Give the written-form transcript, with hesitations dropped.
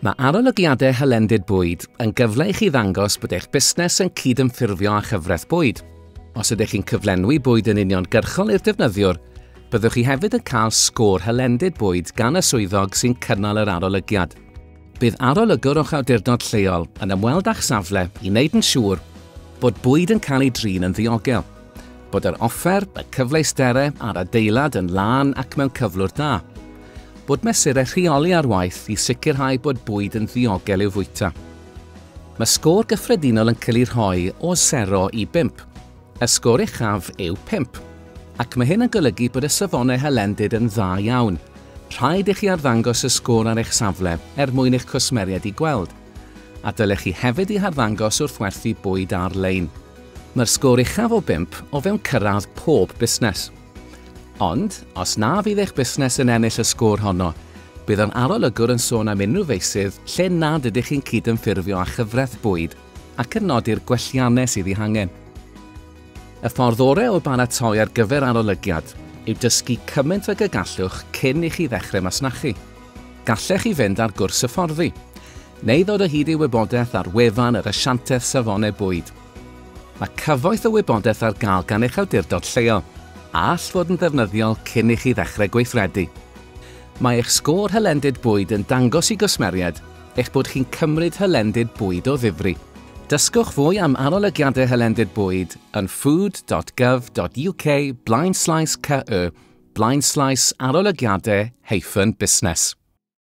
Mae arolygiadau hylendid bwyd yn gyfle i chi ddangos bod eich busnes yn cydymffurfio â chyfraith bwyd. Os ydych chi'n cyflenwi bwyd yn uniongyrchol i'r defnyddiwr, byddwch chi hefyd yn cael sgôr hylendid bwyd gan y swyddog sy'n cynnal yr arolygiad. Bydd arolygwr o'ch awdurdod lleol yn ymweld â'ch safle i wneud yn siŵr bod bwyd yn cael ei drin yn ddiogel, bod yr offer, y cyfleusterau a'r adeilad yn lân ac mewn cyflwr da, bod mesurau rheoli ar waith i sicrhau bod bwyd yn ddiogel i'w fwyta. Mae sgôr gyffredinol yn cael ei rhoi o 0 i 5. Y sgôr uchaf yw 5, ac mae hyn yn golygu bod y safonau hylendid yn dda iawn. Rhaid i chi arddangos y sgôr ar eich safle er mwyn i'ch cwsmeriaid i gweld, a dylech chi hefyd ei harddangos wrth werthu bwyd ar-lein. Mae'r sgôr uchaf o 5 o fewn cyrraedd pob busnes. Ond, os na fydd eich busnes yn ennill y sgôr honno, bydd yr arolygwr yn sôn am unrhyw feysydd lle nad ydych chi'n cydymffurfio â chyfraith bwyd ac yn nodi'r gwelliannau sydd eu hangen. Y ffordd orau o baratoi ar gyfer arolygiad yw dysgu cymaint ag y gallwch cyn i chi ddechrau masnachu. Gallech chi fynd ar gwrs hyfforddi, neu ddod o hyd i wybodaeth ar wefan yr Asiantaeth Safonau Bwyd. Mae cyfoeth o wybodaeth ar gael gan eich awdurdod lleol, a all fod yn ddefnyddiol cyn i chi ddechrau gweithredu. Mae eich sgôr hylendid bwyd yn dangos i gwsmeriaid eich bod chi'n cymryd hylendid bwyd o ddifri. Dysgwch fwy am arolygiadau hylendid bwyd yn food.gov.uk/ke/arolygiadau-busnes.